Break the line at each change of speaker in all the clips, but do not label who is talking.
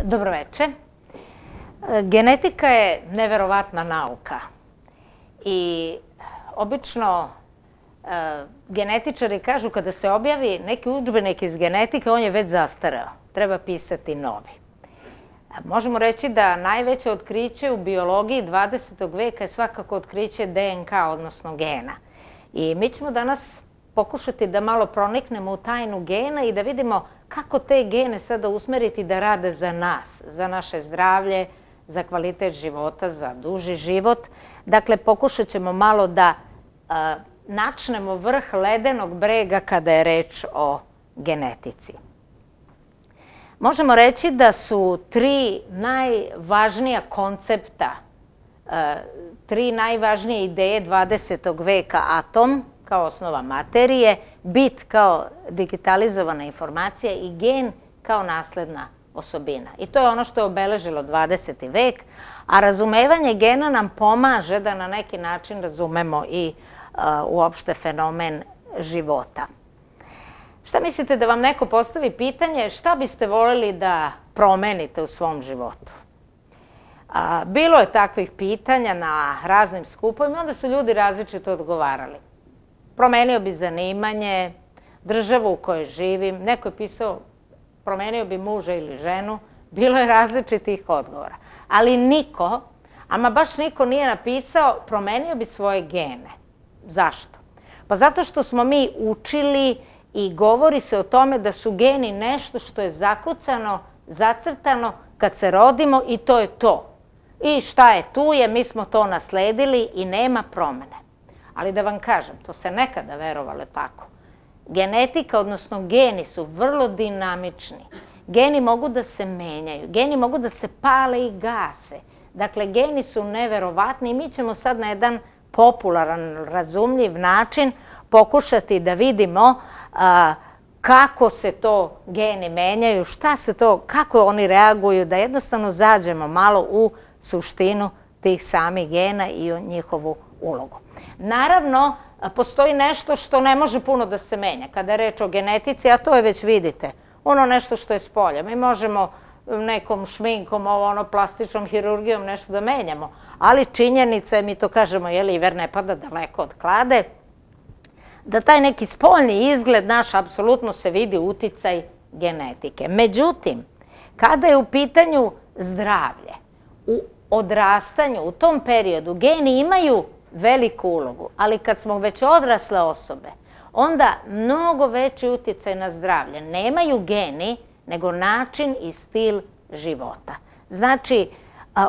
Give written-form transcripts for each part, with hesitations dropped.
Dobroveče. Genetika je neverovatna nauka i obično genetičari kažu kada se objavi neki udžbenik iz genetike, on je već zastareo, treba pisati novi. Možemo reći da najveće otkriće u biologiji 20. veka je svakako otkriće DNK, odnosno gena. I mi ćemo danas pokušati da malo proniknemo u tajnu gena i da vidimo kako te gene sada usmeriti da rade za nas, za naše zdravlje, za kvalitet života, za duži život. Dakle, pokušat ćemo malo da načnemo vrh ledenog brega kada je reč o genetici. Možemo reći da su tri najvažnija koncepta, tri najvažnije ideje 20. veka: atom kao osnova materije, bit kao digitalizovana informacija i gen kao nasledna osobina. I to je ono što je obeležilo 20. vek, a razumevanje gena nam pomaže da na neki način razumemo i uopšte fenomen života. Šta mislite da vam neko postavi pitanje šta biste voljeli da promenite u svom životu? Bilo je takvih pitanja na raznim skupovima, onda su ljudi različito odgovarali. Promenio bi zanimanje, državu u kojoj živim, neko je pisao promenio bi muža ili ženu, bilo je različitih odgovora. Ali niko, ama baš niko nije napisao promenio bi svoje gene. Zašto? Pa zato što smo mi učili i govori se o tome da su geni nešto što je zakucano, zacrtano kad se rodimo i to je to. I šta je tu je, mi smo to nasledili i nema promene. Ali da vam kažem, to se nekada verovalo tako. Genetika, odnosno geni su vrlo dinamični. Geni mogu da se menjaju, geni mogu da se pale i gase. Dakle, geni su neverovatni i mi ćemo sad na jedan popularan, razumljiv način pokušati da vidimo kako se to geni menjaju, šta se to, kako oni reaguju, da jednostavno zađemo malo u suštinu tih samih gena i u njihovu ulogu. Naravno, postoji nešto što ne može puno da se menja kada je reč o genetici, a to je već vidite, ono nešto što je s polja. Mi možemo nekom šminkom, plastičnom hirurgijom nešto da menjamo, ali činjenica je, mi to kažemo, iver ne pada daleko od klade, da taj neki spoljni izgled naš apsolutno se vidi uticaj genetike. Međutim, kada je u pitanju zdravlje, u odrastanju, u tom periodu, geni imaju veliku ulogu, ali kad smo već odrasle osobe, onda mnogo veći uticaj na zdravlje nemaju geni, nego način i stil života. Znači,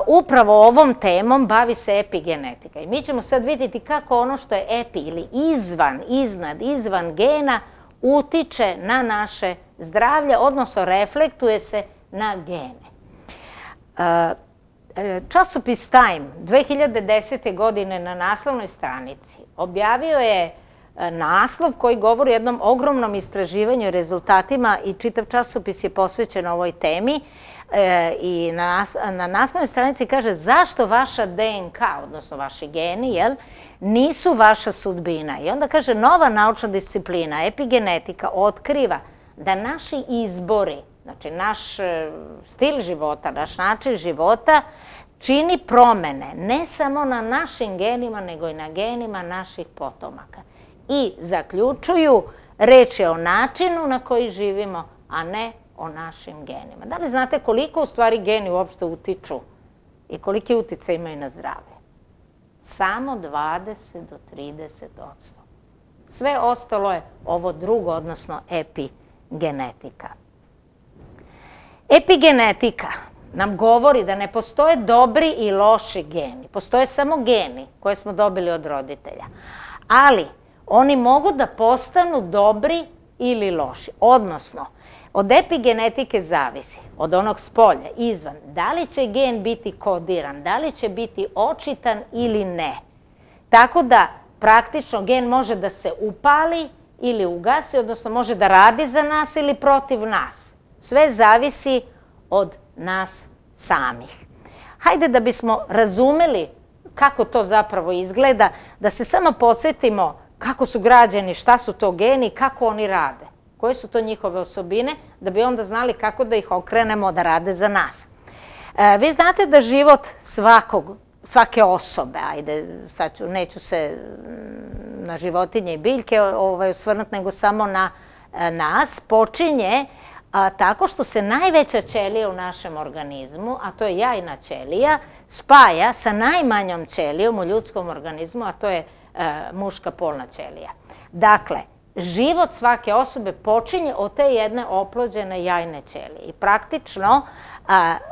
upravo ovom temom bavi se epigenetika. I mi ćemo sad vidjeti kako ono što je epi ili izvan, iznad, izvan gena utiče na naše zdravlje, odnosno reflektuje se na gene. Časopis Time 2010. godine na naslovnoj stranici objavio je naslov koji govori o jednom ogromnom istraživanju i rezultatima i čitav časopis je posvećen ovoj temi i na naslovnoj stranici kaže zašto vaša DNK, odnosno vaši geni, nisu vaša sudbina. I onda kaže nova naučna disciplina, epigenetika, otkriva da naši izbori, znači naš stil života, naš način života, čini promene ne samo na našim genima, nego i na genima naših potomaka. I zaključuju, reč je o načinu na koji živimo, a ne o našim genima. Da li znate koliko u stvari geni uopšte utiču i koliki uticaj imaju na zdravlje? Samo 20 do 30%. Sve ostalo je ovo drugo, odnosno epigenetika. Epigenetika nam govori da ne postoje dobri i loši geni. Postoje samo geni koje smo dobili od roditelja. Ali oni mogu da postanu dobri ili loši. Odnosno, od epigenetike zavisi, od onog spolja, izvan, da li će gen biti kodiran, da li će biti očitan ili ne. Tako da praktično gen može da se upali ili ugasi, odnosno može da radi za nas ili protiv nas. Sve zavisi od nas samih. Hajde da bismo razumeli kako to zapravo izgleda, da se samo podsjetimo kako su građeni, šta su to geni, kako oni rade. Koje su to njihove osobine, da bi onda znali kako da ih okrenemo da rade za nas. Vi znate da život svake osobe, ajde, sad neću se na životinje i biljke osvrnuti, nego samo na nas, počinje tako što se najveća ćelija u našem organizmu, a to je jajna ćelija, spaja sa najmanjom ćelijom u ljudskom organizmu, a to je muška polna ćelija. Dakle, život svake osobe počinje od te jedne oplođene jajne ćelije. I praktično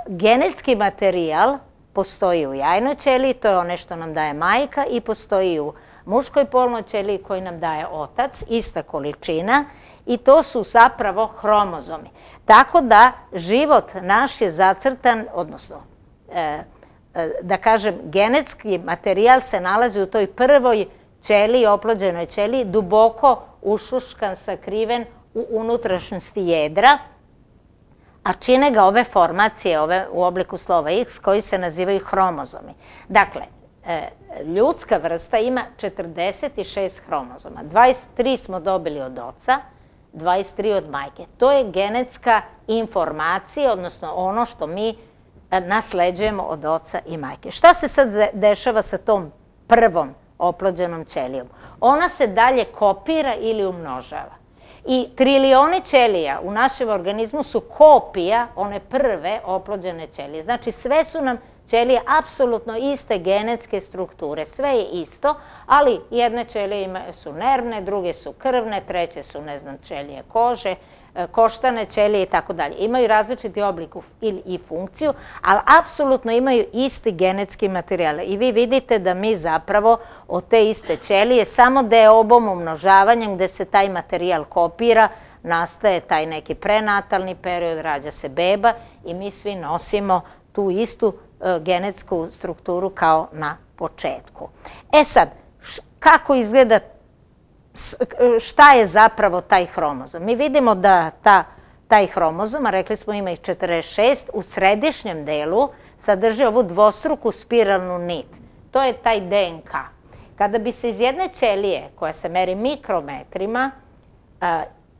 genetski materijal postoji u jajnoj ćeliji, to je ono što nam daje majka, i postoji u muškoj polnoj ćeliji koji nam daje otac, ista količina, i to su zapravo hromozomi. Tako da život naš je zacrtan, odnosno, da kažem, genetski materijal se nalazi u toj prvoj ćeliji, oplođenoj ćeliji, duboko ušuškan, sakriven u unutrašnjosti jedra, a čine ga ove formacije u obliku slova X koji se nazivaju hromozomi. Dakle, ljudska vrsta ima 46 hromozoma. 23 smo dobili od oca, 23 od majke. To je genetska informacija, odnosno ono što mi nasleđujemo od oca i majke. Šta se sad dešava sa tom prvom oplođenom ćelijom? Ona se dalje kopira ili umnožava. I trilioni ćelija u našem organizmu su kopija one prve oplođene ćelije. Znači, sve su nam ćelije apsolutno iste genetske strukture. Sve je isto, ali jedne ćelije su nervne, druge su krvne, treće su, ne znam, ćelije kože, koštane ćelije i tako dalje. Imaju različiti oblik i funkciju, ali apsolutno imaju isti genetski materijal. I vi vidite da mi zapravo od te iste ćelije samo deobom, umnožavanjem, gde se taj materijal kopira, nastaje taj neki prenatalni period, rađa se beba i mi svi nosimo tu istu genetsku strukturu kao na početku. E sad, kako izgleda, šta je zapravo taj hromozom? Mi vidimo da taj hromozom, a rekli smo ima ih 46, u središnjem delu sadrži ovu dvostruku spiralnu nit. To je taj DNK. Kada bi se iz jedne ćelije, koja se meri mikrometrima,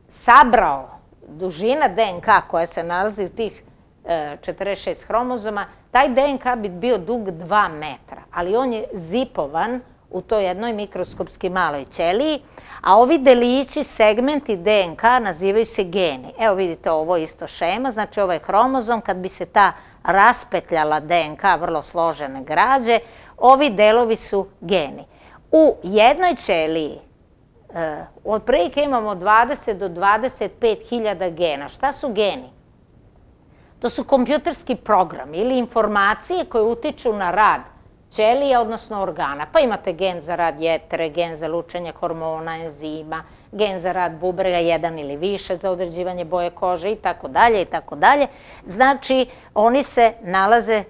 sabrao dužina DNK koja se nalazi u tih 46 hromozoma, taj DNK bi bio dug 2 metra, ali on je zipovan u toj jednoj mikroskopski maloj ćeliji, a ovi delići, segmenti DNK nazivaju se geni. Evo vidite, ovo je isto šema, znači ovaj hromozom, kad bi se ta raspetljala DNK, vrlo složene građe, ovi delovi su geni. U jednoj ćeliji otprilike imamo 20 do 25 hiljada gena. Šta su geni? To su kompjuterski programi ili informacije koje utiču na rad ćelija, odnosno organa. Pa imate gen za rad jetre, gen za lučenje hormona, enzima, gen za rad bubrega, jedan ili više za određivanje boje kože i tako dalje i tako dalje. Znači, oni se nalaze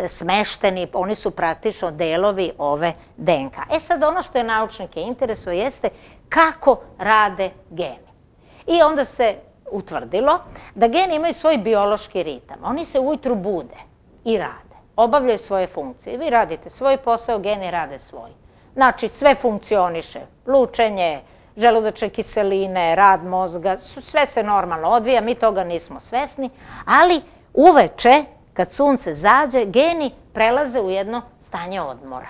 smešteni, oni su praktično delovi ove DNK. E sad, ono što je naučnike interesuje jeste kako rade geni. I onda se utvrdilo da geni imaju svoj biološki ritam. Oni se ujutru bude i rade, obavljaju svoje funkcije. Vi radite svoj posao, geni rade svoj. Znači, sve funkcioniše, lučenje, želudačne kiseline, rad mozga, sve se normalno odvija, mi toga nismo svesni, ali uveče, kad sunce zađe, geni prelaze u jedno stanje odmora.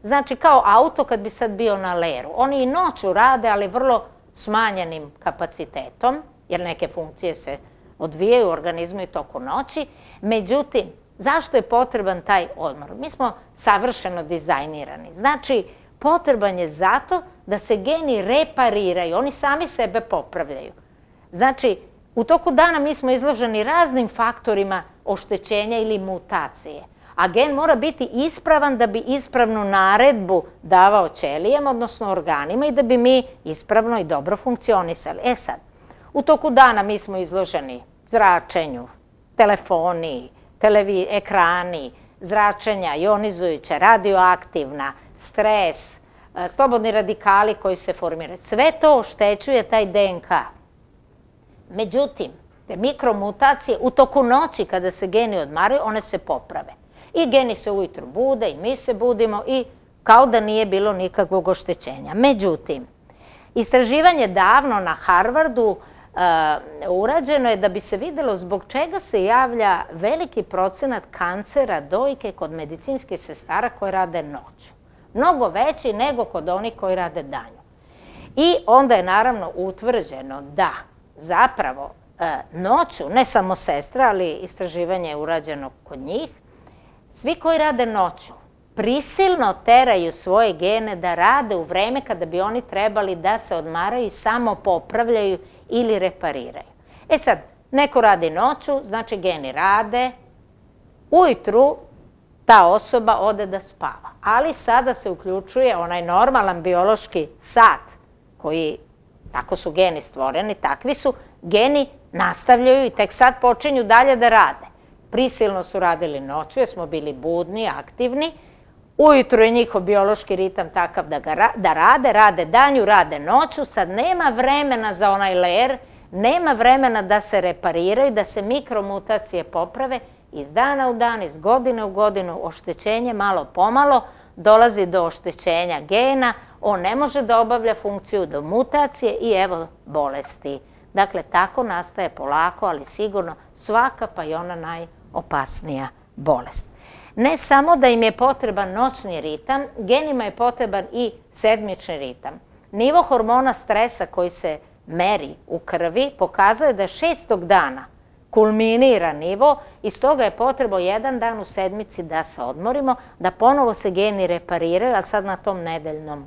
Znači, kao auto kad bi sad bio na leru. Oni i noću rade, ali vrlo smanjenim kapacitetom, jer neke funkcije se odvijaju u organizmu i toku noći. Međutim, zašto je potreban taj odmor? Mi smo savršeno dizajnirani. Znači, potreban je zato da se geni repariraju, oni sami sebe popravljaju. Znači, u toku dana mi smo izloženi raznim faktorima oštećenja ili mutacije, a gen mora biti ispravan da bi ispravnu naredbu davao ćelijama, odnosno organima, i da bi mi ispravno i dobro funkcionisali. E sad, u toku dana mi smo izloženi zračenju, telefoni, ekrani, zračenja, ionizujuća, radioaktivna, stres, slobodni radikali koji se formiraju. Sve to oštećuje taj DNK. Međutim, te mikromutacije u toku noći kada se geni odmaraju, one se poprave. I geni se ujutru bude i mi se budimo i kao da nije bilo nikakvog oštećenja. Međutim, istraživanje davno na Harvardu urađeno je da bi se videlo zbog čega se javlja veliki procenat kancera dojke kod medicinskih sestara koje rade noću. Mnogo veći nego kod onih koji rade danju. I onda je naravno utvrđeno da zapravo noću, ne samo sestra, ali istraživanje je urađeno kod njih, svi koji rade noću prisilno teraju svoje gene da rade u vreme kada bi oni trebali da se odmaraju i samo popravljaju ili repariraju. E sad, neko radi noću, znači geni rade, ujutru ta osoba ode da spava. Ali sada se uključuje onaj normalan biološki sat koji, tako su geni stvoreni, takvi su, geni nastavljaju i tek sad počinju dalje da rade. Prisilno su radili noću jer smo bili budni, aktivni. Ujutru je njihov biološki ritam takav da rade danju, rade noću. Sad nema vremena za onaj ler, nema vremena da se repariraju, da se mikromutacije poprave. Iz dana u dan, iz godine u godinu, oštećenje malo pomalo, dolazi do oštećenja gena, on ne može da obavlja funkciju do mutacije i evo bolesti. Dakle, tako nastaje polako, ali sigurno svaka, pa i ona najopasnija bolest. Ne samo da im je potreban noćni ritam, genima je potreban i sedmični ritam. Nivo hormona stresa koji se meri u krvi pokazuje da 6. dana kulminira nivo i stoga je potrebno 1 dan u sedmici da se odmorimo, da ponovo se geni repariraju, ali sad na tom nedeljnom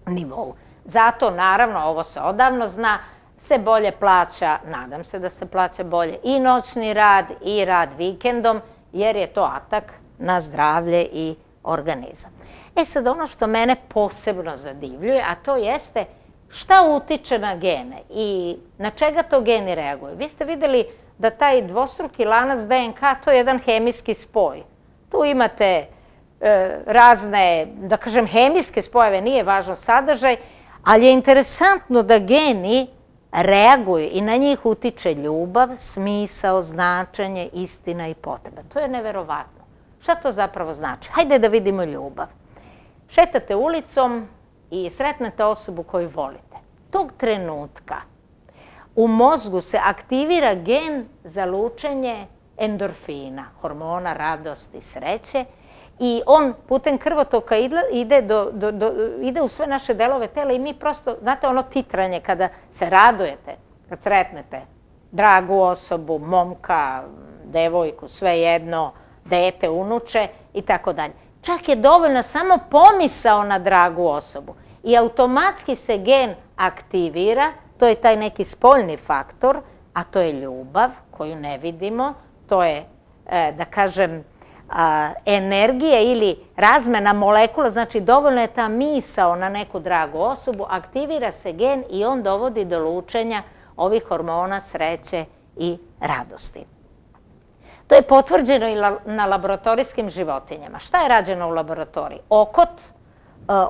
nivou. Zato, naravno, ovo se odavno zna, se bolje plaća, nadam se da se plaća bolje i noćni rad i rad vikendom, jer je to atak na zdravlje i organizam. E sad, ono što mene posebno zadivljuje, a to jeste šta utiče na gene i na čega to geni reaguju. Vi ste videli da taj dvostruki lanac DNK, to je jedan hemijski spoj. Tu imate razne, da kažem, hemijske spojeve, nije važno sadržaj, ali je interesantno da geni reaguju i na njih utiče ljubav, smisao, značenje, istina i potreba. To je neverovatno. Šta to zapravo znači? Hajde da vidimo ljubav. Šetate ulicom i sretnete osobu koju volite. Tog trenutka u mozgu se aktivira gen za lučenje endorfina, hormona radosti i sreće, i on putem krvotoka ide u sve naše delove tela i mi prosto, znate ono titranje kada se radujete, kad sretnete dragu osobu, momka, devojku, svejedno, dete, unuče i tako dalje. Čak je dovoljna samo pomisao na dragu osobu i automatski se gen aktivira, to je taj neki spoljni faktor, a to je ljubav koju ne vidimo, to je, da kažem, energija ili razmena molekula, znači dovoljno je ta misao na neku dragu osobu, aktivira se gen i on dovodi do lučenja ovih hormona sreće i radosti. To je potvrđeno i na laboratorijskim životinjama. Šta je rađeno u laboratoriji? Okot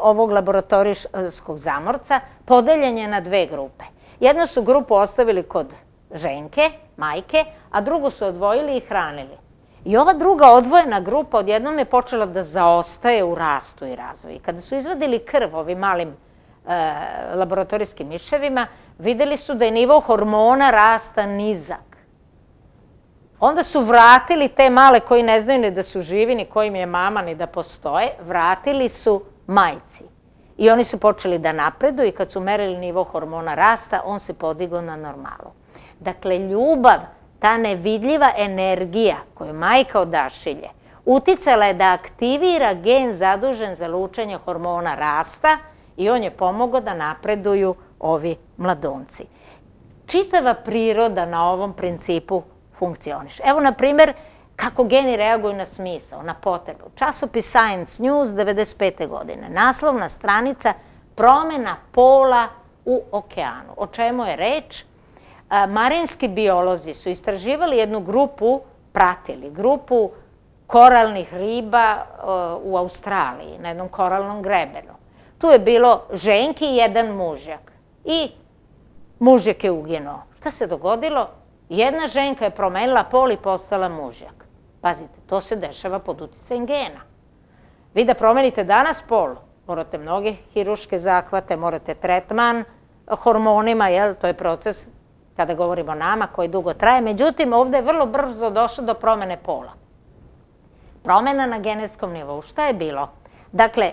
ovog laboratorijskog zamorca podeljen je na 2 grupe. Jednu su grupu ostavili kod ženke, majke, a drugu su odvojili i hranili. I ova druga odvojena grupa odjednom je počela da zaostaje u rastu i razvoju. Kada su izvadili krv ovim malim laboratorijskim miševima, videli su da je nivo hormona rasta nizak. Onda su vratili te male koji ne znaju ni da su živi, ni kojim je mama, ni da postoje, vratili su majci. I oni su počeli da napreduju i kad su merili nivo hormona rasta, on se podigao na normalu. Dakle, ljubav, ta nevidljiva energija koju majka odašilje, uticala je da aktivira gen zadužen za lučenje hormona rasta i on je pomogao da napreduju ovi mladunci. Čitava priroda na ovom principu funkcioniše. Evo, na primjer, kako geni reaguju na smisao, na potrebu. Časopis Science News 1995. godine. Naslovna stranica promjena pola u okeanu. O čemu je reč? Marinski biolozi su istraživali jednu grupu, pratili grupu koralnih riba u Australiji, na jednom koralnom grebenu. Tu je bilo ženki i jedan mužjak. I mužjak je uginuo. Šta se dogodilo? Jedna ženka je promenila pol i postala mužjak. Pazite, to se dešava pod uticajem gena. Vi da promenite danas pol, morate mnoge hiruške zahvate, morate tretman hormonima, to je proces kada govorimo o nama, koji dugo traje. Međutim, ovde je vrlo brzo došlo do promene pola. Promena na genetskom nivou. Šta je bilo? Dakle,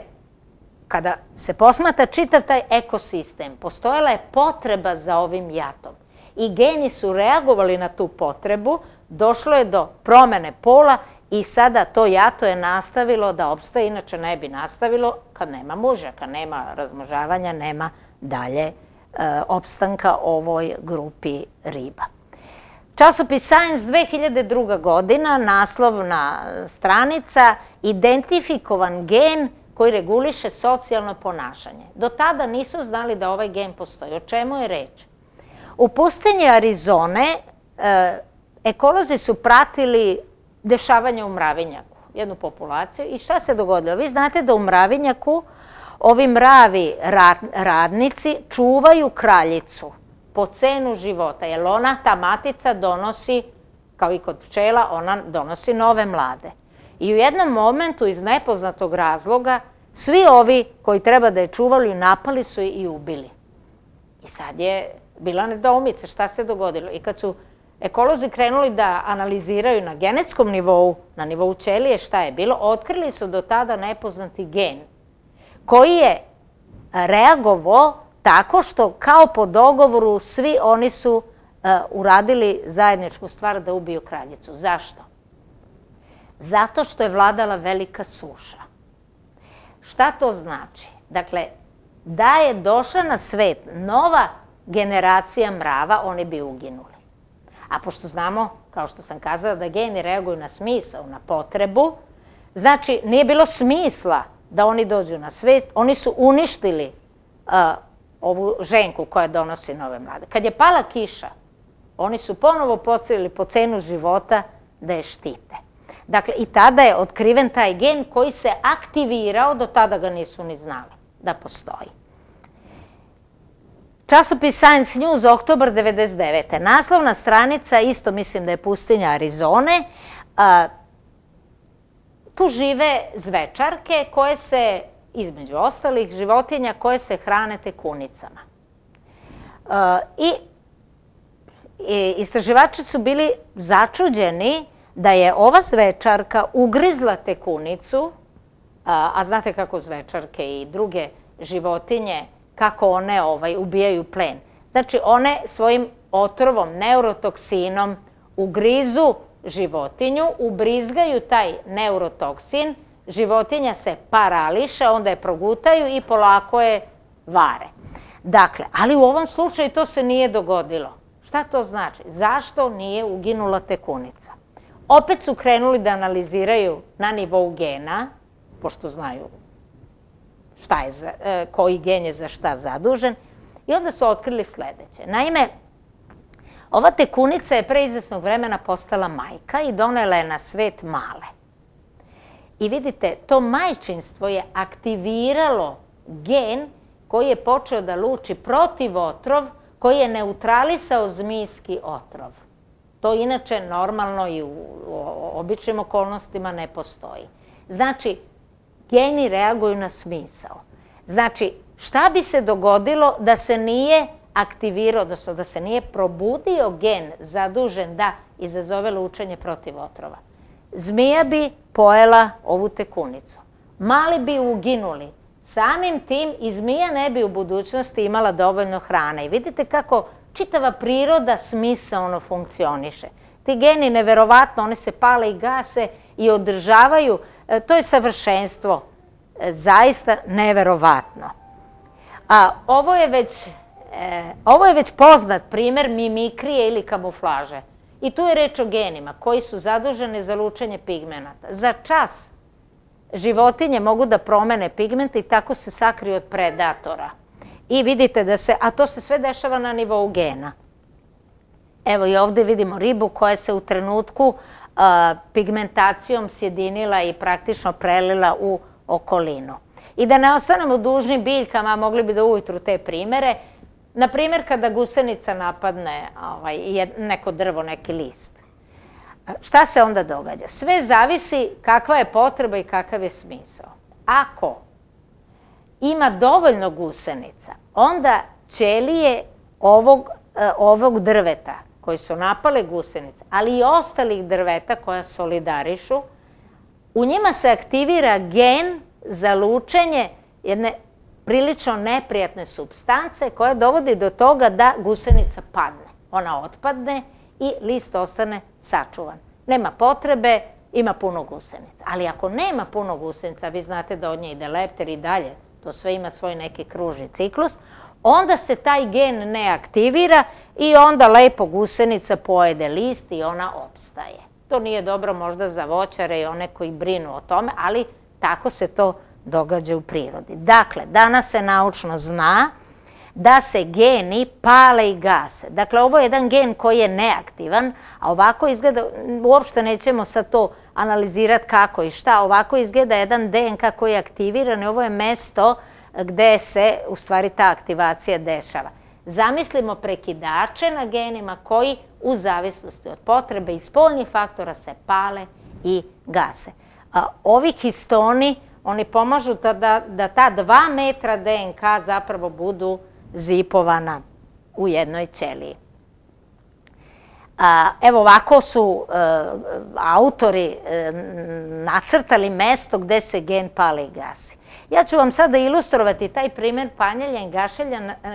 kada se posmatra čitav taj ekosistem, postojala je potreba za ovim jatom. I geni su reagovali na tu potrebu, došlo je do promene pola i sada to jato je nastavilo da opstaje, inače ne bi nastavilo kad nema muža, kad nema razmnožavanja, nema dalje opstanka ovoj grupi riba. Časopis Science 2002. godina, naslovna stranica, identifikovan gen koji reguliše socijalno ponašanje. Do tada nisu znali da ovaj gen postoji. O čemu je reč? U pustinji Arizone ekolozi su pratili dešavanja u mravinjaku, jednu populaciju, i šta se dogodilo? Vi znate da u mravinjaku ovi mravi radnici čuvaju kraljicu po cenu života, jer ona, ta matica, donosi, kao i kod pčela, ona donosi nove mlade. I u jednom momentu, iz nepoznatog razloga, svi ovi koji treba da je čuvali, napali su je i ubili. I sad je bila nedoumica šta se dogodilo. I kad su ekolozi krenuli da analiziraju na genetskom nivou, na nivou ćelije šta je bilo, otkrili su do tada nepoznati gen koji je reagovao tako što kao po dogovoru svi oni su uradili zajedničku stvar da ubiju kraljicu. Zašto? Zato što je vladala velika suša. Šta to znači? Dakle, da je došla na svet nova generacija mrava, oni bi uginuli. A pošto znamo, kao što sam kazala, da geni reaguju na smisao, na potrebu, znači nije bilo smisla da oni dođu na svet, oni su uništili ovu ženku koja donosi nove mlade. Kad je pala kiša, oni su ponovo pocelili po cenu života da je štite. Dakle, i tada je otkriven taj gen koji se aktivirao, do tada ga nisu ni znali da postoji. Časopis Science News, oktobar 1999. Naslovna stranica, isto mislim da je pustinja Arizone, tu žive zvečarke koje se, između ostalih životinja, koje se hrane tekunicama. I istraživači su bili začuđeni da je ova zvečarka ugrizla tekunicu, a znate kako zvečarke i druge životinje, kako one ubijaju plen. Znači, one svojim otrovom, neurotoksinom ugrizu životinju, ubrizgaju taj neurotoksin, životinja se parališe, onda je progutaju i polako je vare. Dakle, ali u ovom slučaju to se nije dogodilo. Šta to znači? Zašto nije uginula tekunica? Opet su krenuli da analiziraju na nivou gena, pošto znaju koji gen je za šta zadužen, i onda su otkrili sledeće. Naime, ova tekunica je pre izvesnog vremena postala majka i donela je na svet male. I vidite, to majčinstvo je aktiviralo gen koji je počeo da luči protiv otrov, koji je neutralisao zmijski otrov. To inače normalno i u običnim okolnostima ne postoji. Znači, geni reaguju na smisao. Znači, šta bi se dogodilo da se nije aktivirao, odnosno da se nije probudio gen zadužen da izazove lučenje protiv otrova? Zmija bi pojela ovu tekunicu. Mali bi uginuli. Samim tim i zmija ne bi u budućnosti imala dovoljno hrane. I vidite kako čitava priroda smisaono funkcioniše. Ti geni, neverovatno, one se pale i gase i održavaju. To je savršenstvo. Zaista neverovatno. Ovo je već poznat primer mimikrije ili kamuflaže. I tu je reč o genima koji su zaduženi za lučenje pigmenata. Za čas životinje mogu da promene pigmente i tako se sakriju od predatora. I vidite da se, a to se sve dešava na nivou gena. Evo i ovde vidimo ribu koja se u trenutku pigmentacijom sjedinila i praktično prelila u okolinu. I da ne ostanemo dužni biljkama, mogli bi da ujutru te primere. Na primjer, kada gusenica napadne neko drvo, neki list. Šta se onda događa? Sve zavisi kakva je potreba i kakav je smisao. Ako ima dovoljno gusenica, onda ćelije ovog ovog drveta koji su napale gusenice, ali i ostalih drveta koja solidarišu, u njima se aktivira gen za lučenje jedne prilično neprijatne supstance koja dovodi do toga da gusenica padne. Ona otpadne i list ostane sačuvan. Nema potrebe, ima puno gusenica. Ali ako nema puno gusenica, vi znate da od nje ide lepter i dalje, to sve ima svoj neki kružni ciklus, onda se taj gen ne aktivira i onda lepo gusenica pojede list i ona opstaje. To nije dobro možda za voćare i one koji brinu o tome, ali tako se to događa u prirodi. Dakle, danas se naučno zna da se geni pale i gase. Dakle, ovo je jedan gen koji je neaktivan, a ovako izgleda, uopšte nećemo sad to analizirati kako i šta, ovako izgleda jedan DNK koji je aktiviran i ovo je mesto gde se u stvari ta aktivacija dešava. Zamislimo prekidače na genima koji u zavisnosti od potrebe i spoljnih faktora se pale i gase. Ovi histoni, oni pomažu da ta 2 metra DNK zapravo budu zipovana u jednoj ćeliji. Evo ovako su autori nacrtali mesto gde se gen pale i gasi. Ja ću vam sada ilustrovati taj primjer paljenja i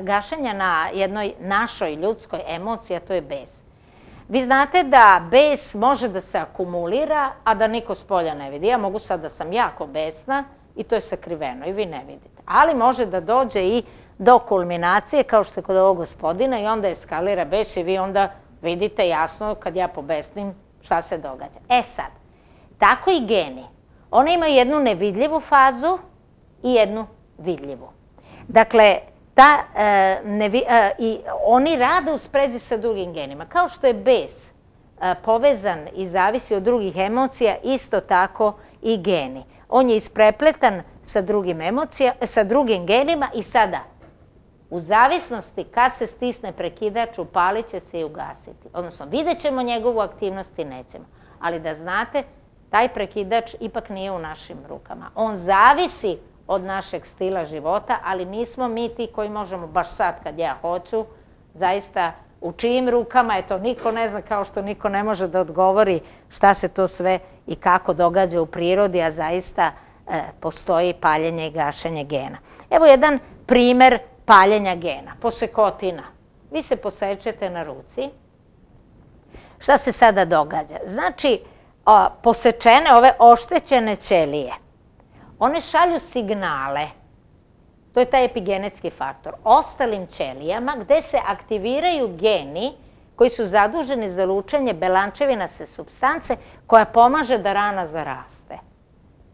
gašenja na jednoj našoj ljudskoj emociji, a to je bes. Vi znate da bes može da se akumulira, a da niko s polja ne vidi. Ja mogu sad da sam jako besna i to je sakriveno i vi ne vidite. Ali može da dođe i do kulminacije, kao što je kod ovog gospodina, i onda eskalira bes i vi onda vidite jasno kad ja pobesnim šta se događa. E sad, tako i geni. One imaju jednu nevidljivu fazu i jednu vidljivu. Dakle, oni rade u sprezi sa drugim genima. Kao što je bes povezan i zavisi od drugih emocija, isto tako i geni. On je isprepletan sa drugim genima i sada, u zavisnosti kad se stisne prekidač, upalit će se i ugasiti. Odnosno, vidjet ćemo njegovu aktivnost i nećemo. Ali da znate, taj prekidač ipak nije u našim rukama. On zavisi od našeg stila života, ali nismo mi ti koji možemo baš sad kad ja hoću, zaista u čijim rukama, eto niko ne zna, kao što niko ne može da odgovori šta se to sve i kako događa u prirodi, a zaista postoji paljenje i gašenje gena. Evo jedan primer paljenja gena, posekotina. Vi se posečete na ruci. Šta se sada događa? Znači, posečene, ove oštećene ćelije, one šalju signale, to je taj epigenetski faktor, ostalim ćelijama gde se aktiviraju geni koji su zaduženi za lučenje belančevinase supstance koja pomaže da rana zaraste.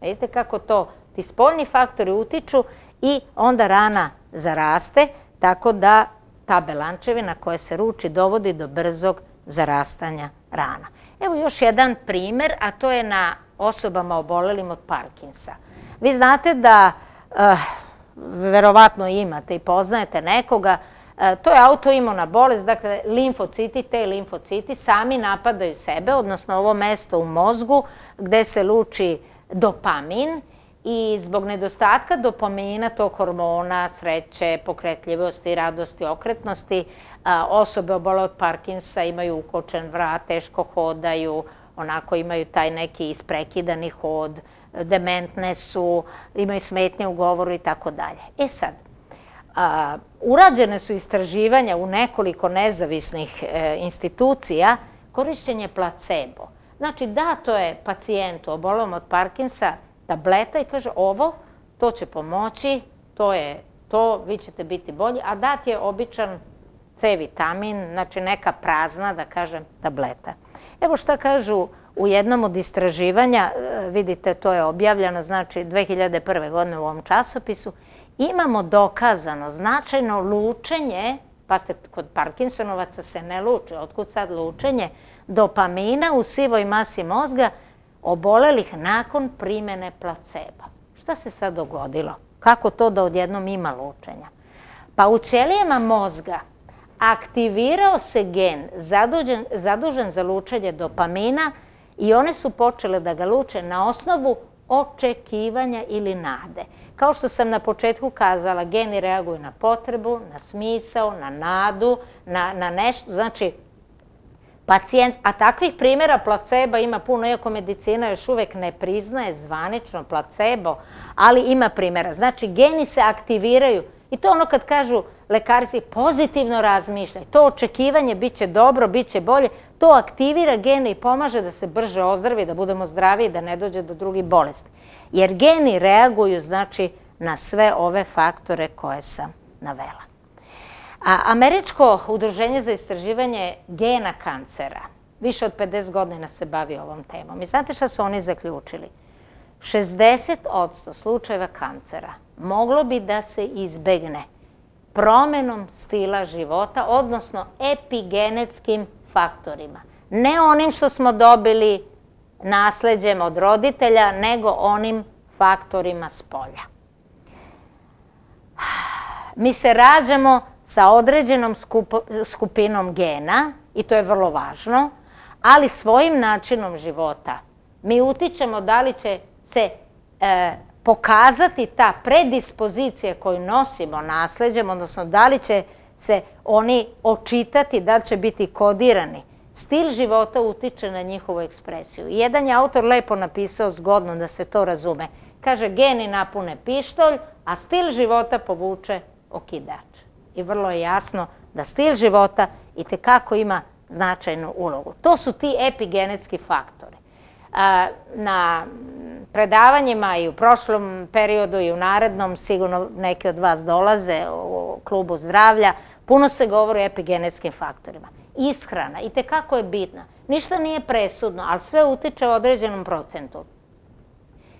Vidite kako to ti spoljni faktori utiču i onda rana zaraste, tako da ta belančevina koja se ruči dovodi do brzog zarastanja rana. Evo još jedan primer, a to je na osobama obolelim od Parkinsa. Vi znate da, verovatno imate i poznajete nekoga, to je autoimuna bolest, dakle limfociti, te limfociti sami napadaju sebe, odnosno ovo mesto u mozgu gde se luči dopamin i zbog nedostatka dopamina, tog hormona, sreće, pokretljivosti, radosti, okretnosti, osobe obole od Parkinsa imaju ukočen vrat, teško hodaju, onako imaju taj neki isprekidani hod, dementne su, imaju smetnje u govoru i tako dalje. E sad, urađene su istraživanja u nekoliko nezavisnih institucija korišćenje placebo. Znači, dato je pacijentu obolelom od Parkinsa tableta i kaže ovo, to će pomoći, to je to, vi ćete biti bolji, a dat je običan C vitamin, znači neka prazna, da kažem, tableta. Evo šta kažu u jednom od istraživanja, vidite, to je objavljeno, znači 2001. godine u ovom časopisu, imamo dokazano značajno lučenje, pa ste kod Parkinsonovaca se ne luče, otkud sad lučenje, dopamina u sivoj masi mozga obolelih nakon primene placeba. Šta se sad dogodilo? Kako to da odjednom ima lučenja? Pa u ćelijama mozga aktivirao se gen zadužen za lučenje dopamina i one su počele da ga luče na osnovu očekivanja ili nade. Kao što sam na početku kazala, geni reaguju na potrebu, na smisao, na nadu, na nešto. Znači, pacijent, a takvih primjera placeba ima puno, iako medicina još uvek ne priznaje zvanično placebo, ali ima primjera. Znači, geni se aktiviraju i to ono kad kažu lekarici pozitivno razmišljaj, to očekivanje bit će dobro, bit će bolje, to aktivira gene i pomaže da se brže ozdravi, da budemo zdraviji, da ne dođe do drugih bolesti. Jer geni reaguju, znači, na sve ove faktore koje sam navela. Američko udruženje za istraživanje gena kancera više od 50 godina se bavi ovom temom. I znate šta su oni zaključili? 60% slučajeva kancera moglo bi da se izbegne promenom stila života, odnosno epigenetskim faktorima. Ne onim što smo dobili nasleđem od roditelja, nego onim faktorima s polja. Mi se rađamo sa određenom skupinom gena, i to je vrlo važno, ali svojim načinom života mi utičemo da li će se pokazati ta predispozicija koju nosimo nasleđem, odnosno da li će se oni očitati, da li će biti kodirani. Stil života utiče na njihovu ekspresiju. Jedan je autor lepo napisao zgodno da se to razume. Kaže, geni napune pištolj, a stil života povuče okidač. I vrlo je jasno da stil života itekako ima značajnu ulogu. To su ti epigenetski faktori. Na predavanjima i u prošlom periodu i u narednom, sigurno neki od vas dolaze u klubu zdravlja, puno se govori o epigenetskim faktorima. Ishrana itekako je bitna. Ništa nije presudno, ali sve utiče u određenom procentu.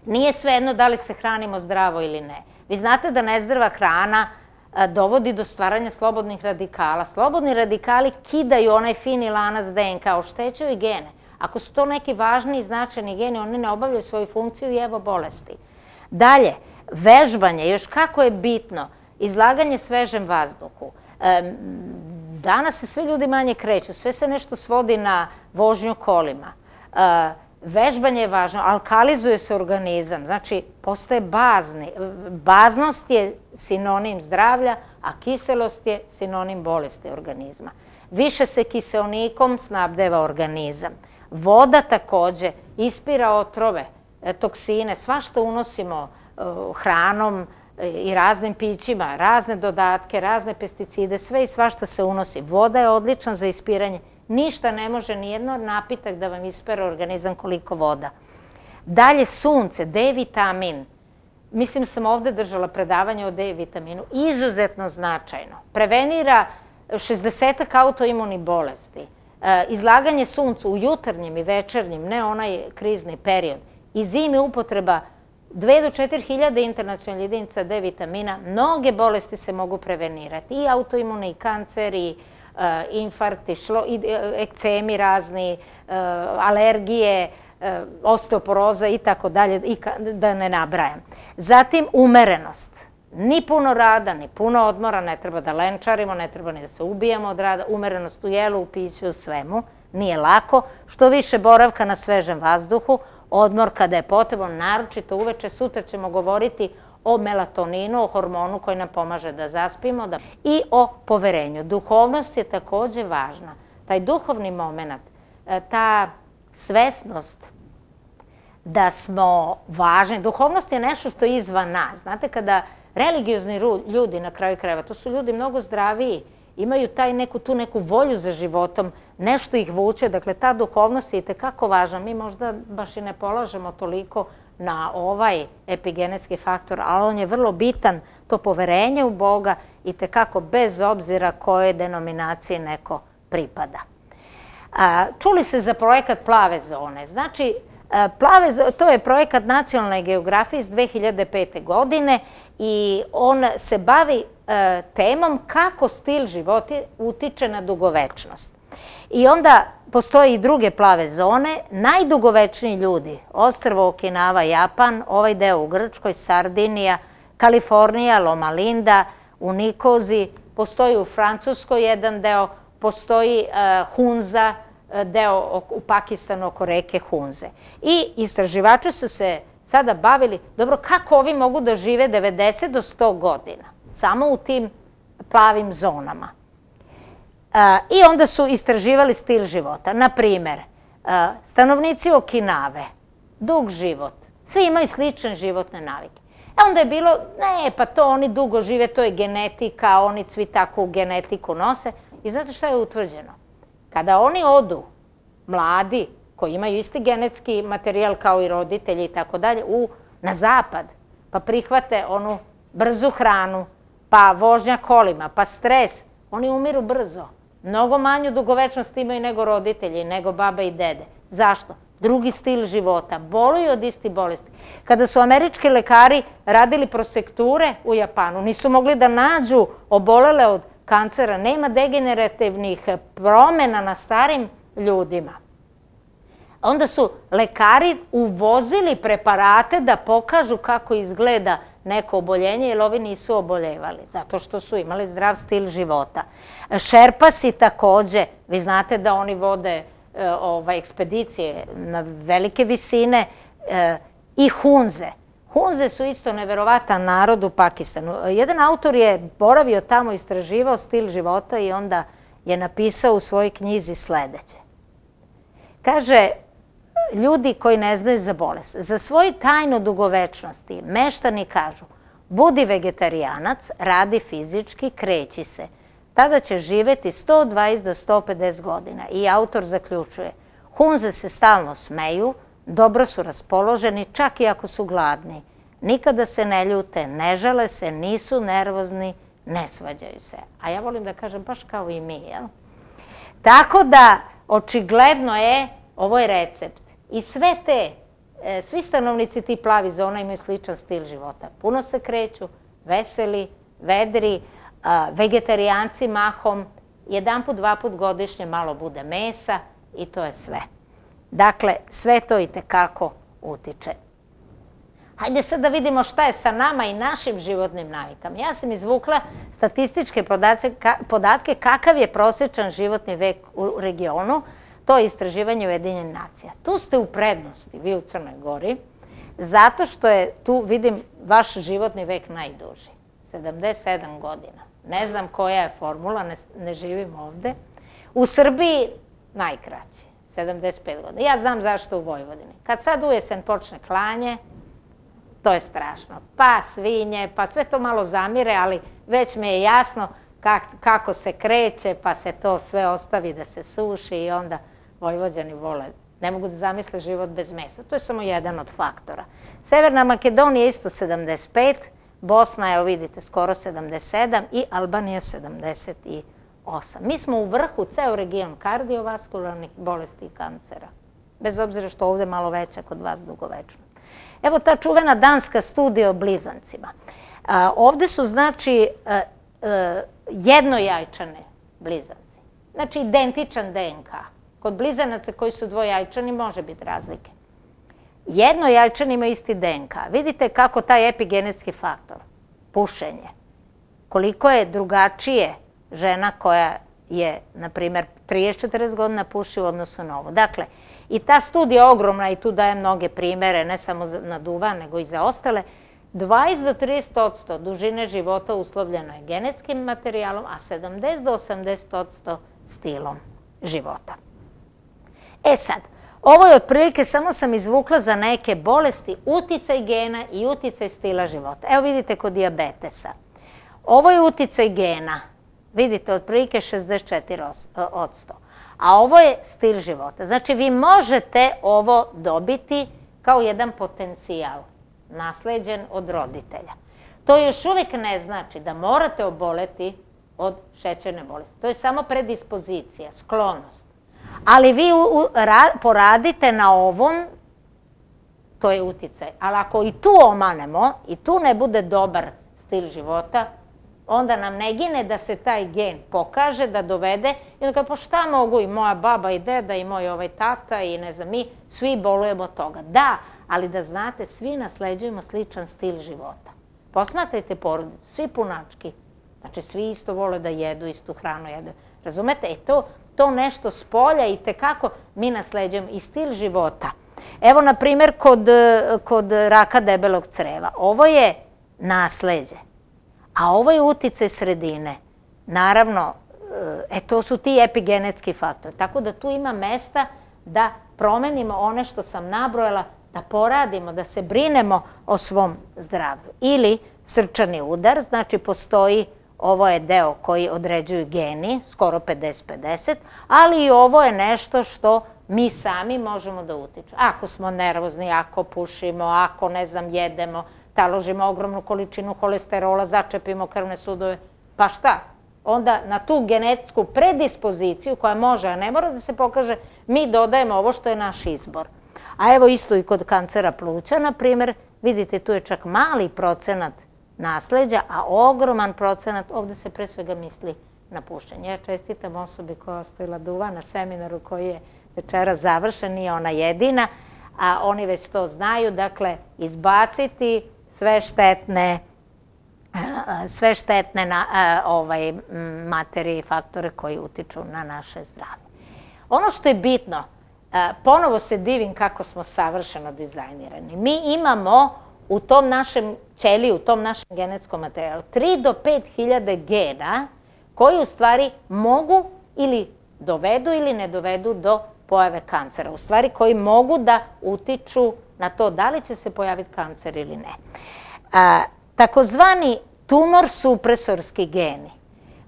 Nije svejedno da li se hranimo zdravo ili ne. Vi znate da nezdrava hrana dovodi do stvaranja slobodnih radikala. Slobodni radikali kidaju onaj fini lanac DNK, oštećuju i gene. Ako su to neki važni i značajni geni, oni ne obavljaju svoju funkciju i evo bolesti. Dalje, vežbanje, još kako je bitno, izlaganje svežem vazduhu. Danas se svi ljudi manje kreću, sve se nešto svodi na vožnju kolima. Vežbanje je važno, alkalizuje se organizam, znači postaje bazni. Baznost je sinonim zdravlja, a kiselost je sinonim bolesti organizma. Više se kiseonikom snabdeva organizam. Voda takođe ispira otrove, toksine, svašta unosimo hranom i raznim pićima, razne dodatke, razne pesticide, sve i svašta se unosi. Voda je odlična za ispiranje. Ništa ne može, nijedno napitak da vam ispere organizam koliko voda. Dalje sunce, D vitamin. Mislim sam ovde držala predavanje o D vitaminu. Izuzetno značajno. Prevenira 60 autoimunih bolesti. Izlaganje suncu u jutarnjem i večernjem, ne onaj krizni period. I zimi upotreba 2 do 4 hiljade internacionalnih jedinica D vitamina. Mnoge bolesti se mogu prevenirati. I autoimuni, i kancer, i infarkti, ekcemi razni, alergije, osteoporoza i tako dalje, da ne nabrajam. Zatim umerenost. Ni puno rada, ni puno odmora, ne treba da lenčarimo, ne treba ni da se ubijamo od rada. Umerenost u jelu, u piću, u svemu. Nije lako. Što više boravka na svežem vazduhu, odmor kada je potrebno, naročito uveče. Sutra ćemo govoriti o melatoninu, o hormonu koji nam pomaže da zaspimo i o poverenju. Duhovnost je takođe važna. Taj duhovni moment, ta svesnost da smo važni. Duhovnost je nešto što je izvan nas. Znate, kada religiozni ljudi, na kraju krajeva, to su ljudi mnogo zdraviji, imaju tu neku volju za životom, nešto ih vuče, dakle ta duhovnost je itekako važna. Mi možda baš i ne polažemo toliko na ovaj epigenetski faktor, ali on je vrlo bitan, to poverenje u Boga, itekako bez obzira kojoj denominaciji neko pripada. Čuli se za projekat Plave zone. Znači, to je projekat nacionalne geografije iz 2005. godine i on se bavi temom kako stil života utiče na dugovečnost. I onda postoje i druge plave zone. Najdugovečniji ljudi, ostrvo Okinawa, Japan, ovaj deo u Grčkoj, Sardinija, Kalifornija, Loma Linda, u Nikozi, postoji u Francuskoj jedan deo, postoji Hunza, deo u Pakistanu oko reke Hunze. I istraživači su se sada bavili, dobro, kako ovi mogu da žive 90 do 100 godina, samo u tim plavim zonama. I onda su istraživali stil života. Na primer, stanovnici Okinave, dug život, svi imaju slične životne navike. Onda je bilo, ne, pa to oni dugo žive, to je genetika, oni svi takvu genetiku nose. I znate šta je utvrđeno? Kada oni odu, mladi, koji imaju isti genetski materijal kao i roditelji i tako dalje, na zapad, pa prihvate onu brzu hranu, pa vožnja kolima, pa stres, oni umiru brzo. Mnogo manju dugovečnost imaju nego roditelji, nego baba i dede. Zašto? Drugi stil života, boluju od istih bolesti. Kada su američki lekari radili prosekture u Japanu, nisu mogli da nađu obolele od kancera, nema degenerativnih promena na starim ljudima. Onda su lekari uvozili preparate da pokažu kako izgleda neko oboljenje, jer ovi nisu oboljevali, zato što su imali zdrav stil života. Šerpasi takođe, vi znate da oni vode ekspedicije na velike visine, i Hunze. Hunze su isto neverovatan narod u Pakistanu. Jedan autor je boravio tamo, istraživao stil života i onda je napisao u svojoj knjizi sledeće. Kaže, ljudi koji ne znaju za bolest, za svoju tajnu dugovečnosti meštani kažu: budi vegetarijanac, radi fizički, kreći se. Tada će živeti 120 do 150 godina. I autor zaključuje: Hunze se stalno smeju, dobro su raspoloženi, čak i ako su gladni. Nikada se ne ljute, ne žale se, nisu nervozni, ne svađaju se. A ja volim da kažem baš kao i mi, jel? Tako da, očigledno je, ovo je recept. I svi stanovnici tih plavih zona imaju sličan stil života. Puno se kreću, veseli, vedri, vegetarijanci mahom, jedanput, dvaput godišnje malo bude mesa i to je sve. Dakle, sve to i tekako utiče. Hajde sad da vidimo šta je sa nama i našim životnim navikama. Ja sam izvukla statističke podatke kakav je prosječan životni vek u regionu. To je istraživanje Ujedinjenih nacija. Tu ste u prednosti, vi u Crnoj Gori, zato što je tu, vidim, vaš životni vek najduži. 77 godina. Ne znam koja je formula, ne živim ovde. U Srbiji najkraći, 75 godina. Ja znam zašto u Vojvodini. Kad sad u jesen počne klanje, to je strašno. Pa svinje, pa sve to malo zamire, ali već mi je jasno kako se kreće, pa se to sve ostavi da se suši i onda Vojvođani vole. Ne mogu da zamisle život bez mesa. To je samo jedan od faktora. Severna Makedonija isto 75, Bosna, evo vidite, skoro 77 i Albanija 78. Mi smo u vrhu, ceo region kardiovaskularnih bolesti i kancera. Bez obzira što ovde malo veća kod vas dugovečnost. Evo ta čuvena danska studija o blizancima. Ovde su, znači, jednojajčane blizanci. Znači, identičan DNK. Kod blizanaca koji su dvojajčani može biti razlike. Jednojajčani imaju isti DNK. Vidite kako taj epigenetski faktor, pušenje, koliko je drugačije žena koja je, na primjer, 30-40 godina puši u odnosu na ovo. Dakle, i ta studija je ogromna i tu daje mnoge primere, ne samo na duvan, nego i za ostale. 20 do 30% dužine života uslovljeno je genetskim materijalom, a 70 do 80% stilom života. E sad, ovo je otprilike, samo sam izvukla za neke bolesti, uticaj gena i uticaj stila života. Evo vidite kod dijabetesa. Ovo je uticaj gena, vidite, otprilike 64%. A ovo je stil života. Znači, vi možete ovo dobiti kao jedan potencijal, nasleđen od roditelja. To još uvijek ne znači da morate oboleti od šećerne bolesti. To je samo predispozicija, sklonost. Ali vi poradite na ovom, to je uticaj. Ali ako i tu omanemo, i tu ne bude dobar stil života, onda nam ne gine da se taj gen pokaže, da dovede i onda kao, pa šta mogu i moja baba i deda i moj tata i ne znam, mi svi bolujemo od toga. Da, ali da znate, svi nasleđujemo sličan stil života. Posmatrajte porodicu, svi punački. Znači, svi isto vole da jedu, istu hranu jedu. Razumete? To nešto s polja i tekako mi nasleđujemo i stil života. Evo, na primjer, kod raka debelog creva. Ovo je nasleđe, a ovo je uticaj sredine. Naravno, to su ti epigenetski faktori. Tako da tu ima mesta da promenimo one što sam nabrojala, da poradimo, da se brinemo o svom zdravlju. Ili srčani udar, znači postoji, ovo je deo koji određuju geni, skoro 50-50, ali i ovo je nešto što mi sami možemo da utičemo. Ako smo nervozni, ako pušimo, ako, ne znam, jedemo, taložimo ogromnu količinu holesterola, začepimo krvne sudove, pa šta? Onda na tu genetsku predispoziciju koja može, a ne mora da se pokaže, mi dodajemo ovo što je naš izbor. A evo isto i kod kancera pluća, na primjer, vidite, tu je čak mali procenat nasleđa, a ogroman procenat, ovde se pre svega misli na pušenje. Ja čestitam osobi koja je ostavila duva na seminaru koji je večera završen, nije ona jedina, a oni već to znaju, dakle, izbaciti sve štetne materije i faktore koji utiču na naše zdravlje. Ono što je bitno, ponovo se divim kako smo savršeno dizajnirani. Mi imamo u tom našem ćeliju, u tom našem genetskom materijalu 3 do 5 hiljade gena koji u stvari mogu ili dovedu ili ne dovedu do pojave kancera. U stvari koji mogu da utiču na to da li će se pojaviti kancer ili ne. Takozvani tumor supresorski geni.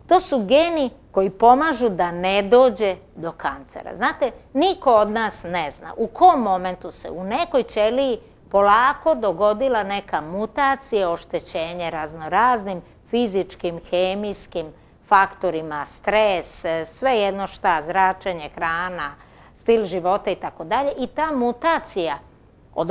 To su geni koji pomažu da ne dođe do kancera. Znate, niko od nas ne zna u kom momentu se u nekoj ćeliji polako dogodila neka mutacija, oštećenje raznoraznim fizičkim, hemijskim faktorima, stres, svejedno šta, zračenje, hrana, stil života i tako dalje. I ta mutacija od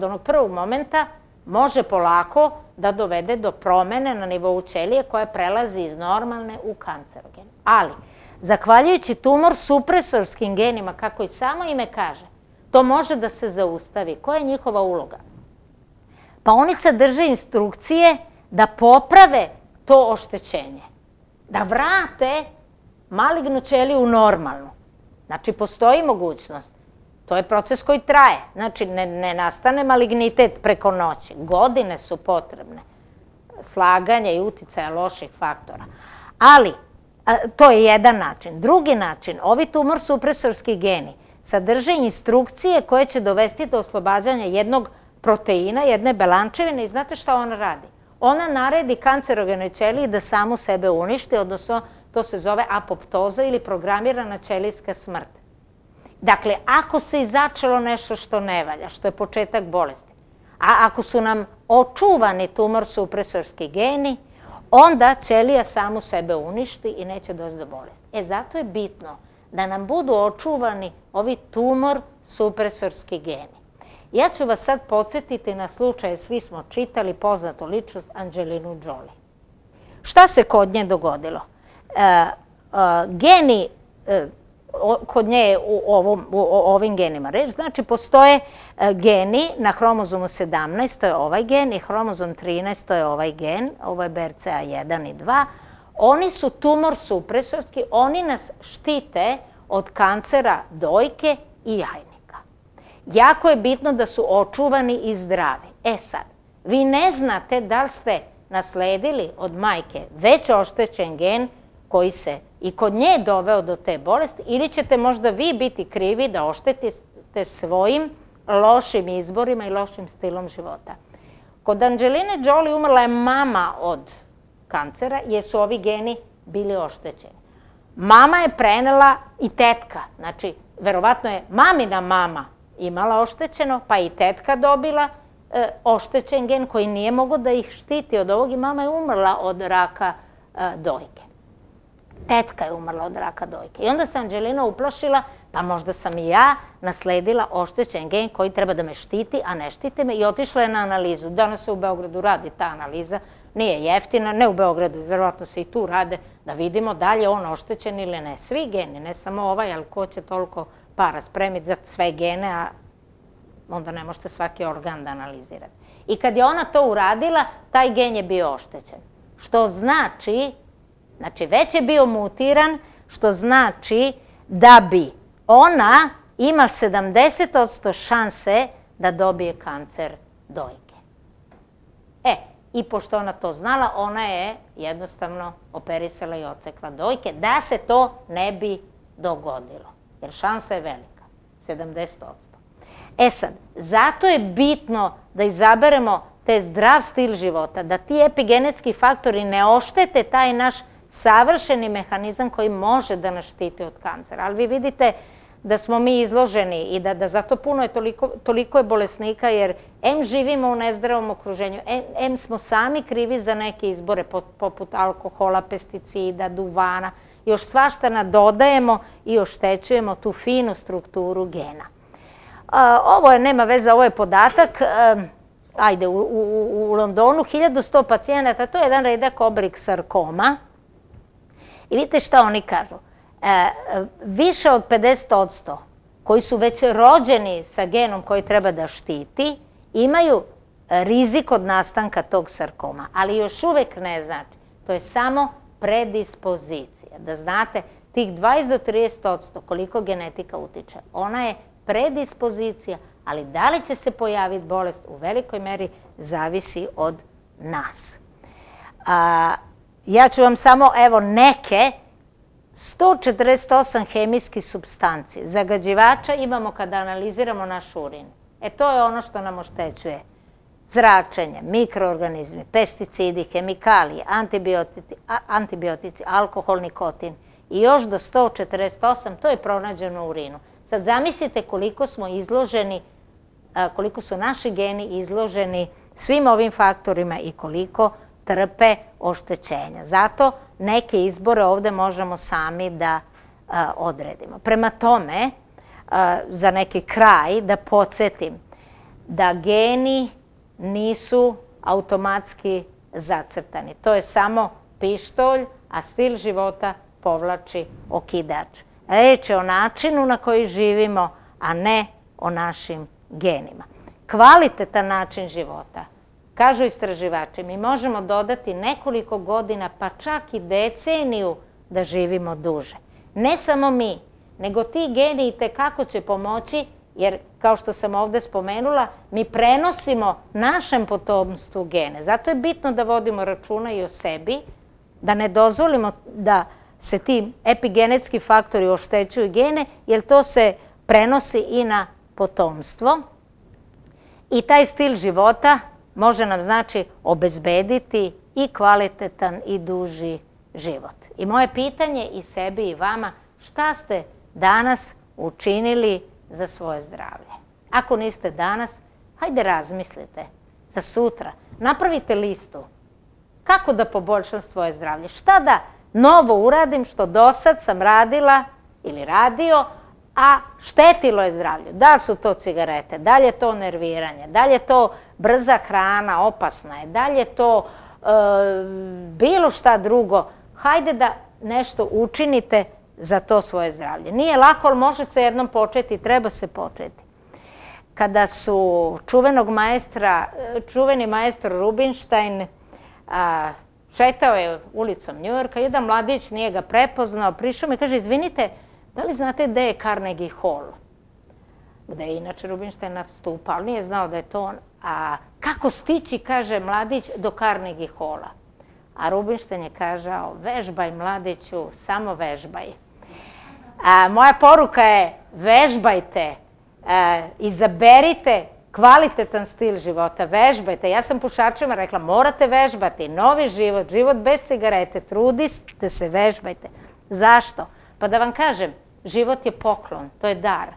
onog prvog momenta može polako da dovede do promene na nivou ćelije koja prelazi iz normalne u kancerogen. Ali, zahvaljujući tumor supresorskim genima, kako i samo ime kaže, to može da se zaustavi. Koja je njihova uloga? Pa oni sadrže instrukcije da poprave to oštećenje, da vrate malignu ćeliju u normalnu. Znači, postoji mogućnost. To je proces koji traje. Znači, ne nastane malignitet preko noći. Godine su potrebne. Slaganje i uticaja loših faktora. Ali, to je jedan način. Drugi način, ovi tumor supresorski geni sadrže instrukcije koje će dovesti do oslobađanja jednog proteina, jedne belančevine i znate šta ona radi? Ona naredi kancerogenoj ćeliji da samu sebe uništi, odnosno to se zove apoptoza ili programirana ćelijska smrt. Dakle, ako se izačelo nešto što ne valja, što je početak bolesti, a ako su nam očuvani tumor supresorski geni, onda ćelija samu sebe uništi i neće doći do bolesti. Zato je bitno da nam budu očuvani ovi tumor supresorski geni. Ja ću vas sad podsjetiti na slučaje, svi smo čitali poznatu ličnost Angelinu Jolie. Šta se kod nje dogodilo? Geni, kod nje je u ovim genima reč, znači postoje geni na hromozomu 17, to je ovaj gen, i hromozom 13, to je ovaj gen, ovo je BRCA1 i 2. Oni su tumor supresorski, oni nas štite od kancera dojke i jajnika. Jako je bitno da su očuvani i zdravi. Sad, vi ne znate da li ste nasledili od majke već oštećen gen koji se i kod nje doveo do te bolesti, ili ćete možda vi biti krivi da oštetite svojim lošim izborima i lošim stilom života. Kod Angeline Jolie umrla je mama od kancera jer su ovi geni bili oštećeni. Mama je prenela i tetka, znači verovatno je mamina mama imala oštećeno, pa i tetka dobila oštećen gen koji nije mogao da ih štiti od ovog i mama je umrla od raka dojke. Tetka je umrla od raka dojke. I onda se Angelina uplašila, pa možda sam i ja nasledila oštećen gen koji treba da me štiti, a ne štite me, i otišla je na analizu. Danas se u Beogradu radi ta analiza, nije jeftina, ne u Beogradu, verovatno se i tu rade, da vidimo da li je on oštećen ili ne. Svi geni, ne samo ovaj, ali ko će toliko para spremiti za sve gene, a onda ne možete svaki organ da analizirate. I kad je ona to uradila, taj gen je bio oštećen. Što znači, već je bio mutiran, što znači da bi ona ima 70% šanse da dobije kancer dojke. I pošto ona to znala, ona je jednostavno operisala i odsekla dojke da se to ne bi dogodilo. Jer šansa je velika, 70%. Sad, zato je bitno da izaberemo te zdrav stil života, da ti epigenetski faktori ne oštete taj naš savršeni mehanizam koji može da nas štiti od kancera. Ali vi vidite da smo mi izloženi i da zato puno je toliko je bolesnika, jer em živimo u nezdravom okruženju, em smo sami krivi za neke izbore poput alkohola, pesticida, duvana, još svašta nadodajemo i oštećujemo tu finu strukturu gena. Ovo je, nema veze, ovo je podatak, ajde, u Londonu 1100 pacijenata, to je jedan redak oblik sarkoma. I vidite šta oni kažu. Više od 50% koji su već rođeni sa genom koji treba da štiti, imaju rizik od nastanka tog sarkoma, ali još uvek ne znači. To je samo predispozicija. Da znate, tih 20 do 30% koliko genetika utiče, ona je predispozicija, ali da li će se pojaviti bolest u velikoj meri zavisi od nas. Ja ću vam samo, evo, neke 148 hemijskih supstanci zagađivača imamo kada analiziramo naš urin. To je ono što nam oštećuje. Zračenje, mikroorganizmi, pesticidi, hemikalije, antibiotici, alkohol, nikotin i još do 148, to je pronađeno u urinu. Sad zamislite koliko smo izloženi, koliko su naši geni izloženi svim ovim faktorima i koliko trpe oštećenja. Zato neke izbore ovde možemo sami da odredimo. Prema tome, za neki kraj da podsjetim da geni nisu automatski zacrtani. To je samo pištolj, a stil života povlači okidač. Reč je o načinu na koji živimo, a ne o našim genima. Kvalitetan način života, kažu istraživači, mi možemo dodati nekoliko godina, pa čak i deceniju da živimo duže. Ne samo mi, nego ti geni i tekako će pomoći, jer, kao što sam ovde spomenula, mi prenosimo našem potomstvu gene. Zato je bitno da vodimo računa i o sebi, da ne dozvolimo da se ti epigenetski faktori oštećuju gene, jer to se prenosi i na potomstvo. I taj stil života može nam, znači, obezbediti i kvalitetan i duži život. I moje pitanje i sebi i vama, šta ste danas učinili za svoje zdravlje? Ako niste danas, hajde razmislite za sutra. Napravite listu. Kako da poboljšam svoje zdravlje? Šta da novo uradim što do sad sam radila ili radio, a štetilo je zdravlju? Da li su to cigarete, da li je to nerviranje, da li je to brza hrana, opasna je, da li je to bilo šta drugo? Hajde da nešto učinite za to svoje zdravlje. Nije lako, ali može se jednom početi, treba se početi. Kada su čuveni maestro Rubinštajn šetao je ulicom Njujorka, jedan mladić nije ga prepoznao, prišao mi i kaže, izvinite, da li znate gde je Carnegie Hall? Gde je inače Rubinštajn nastupao, ali nije znao da je to on. A kako stići, kaže mladić, do Carnegie Halla? A Rubinštajn je kažao, vežbaj mladiću, samo vežbaj. Moja poruka je, vežbajte, izaberite kvalitetan stil života, vežbajte. Ja sam pušačima rekla, morate vežbati, novi život, život bez cigarete, trudite se, vežbajte. Zašto? Pa da vam kažem, život je poklon, to je dar.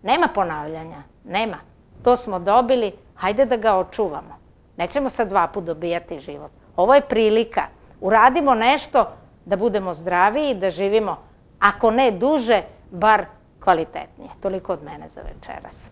Nema ponavljanja, nema. To smo dobili, hajde da ga očuvamo. Nećemo sad 2 puta dobijati život. Ovo je prilika. Uradimo nešto da budemo zdraviji, da živimo, ako ne duže, bar kvalitetnije. Toliko od mene za večeras.